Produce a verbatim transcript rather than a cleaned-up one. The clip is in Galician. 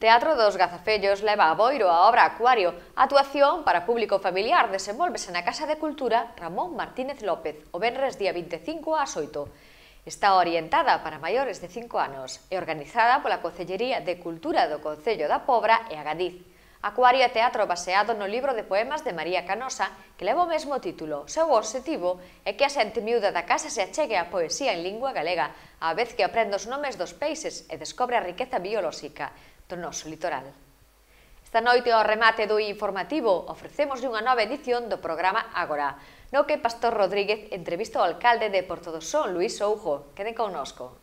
Teatro dos Gazafellos leva a Boiro a obra Acuario. A actuación para público familiar desenvólvese na Casa de Cultura Ramón Martínez López, o venres día vinte e cinco ás oito. Está orientada para maiores de cinco anos e organizada pola Concellería de Cultura do Concello da Pobra e Agadiz. Acuario é teatro baseado no libro de poemas de María Canosa, que leva o mesmo título. Seu obxectivo é que a xente miúda da casa se achegue á poesía en lingua galega, á vez que aprende os nomes dos peixes e descobre a riqueza biolóxica do noso litoral. Esta noite, ao remate do informativo, ofrecemos unha nova edición do programa Agora, no que Pastor Rodríguez entrevista o alcalde de Portodosón, Luís Soujo. Queden connosco.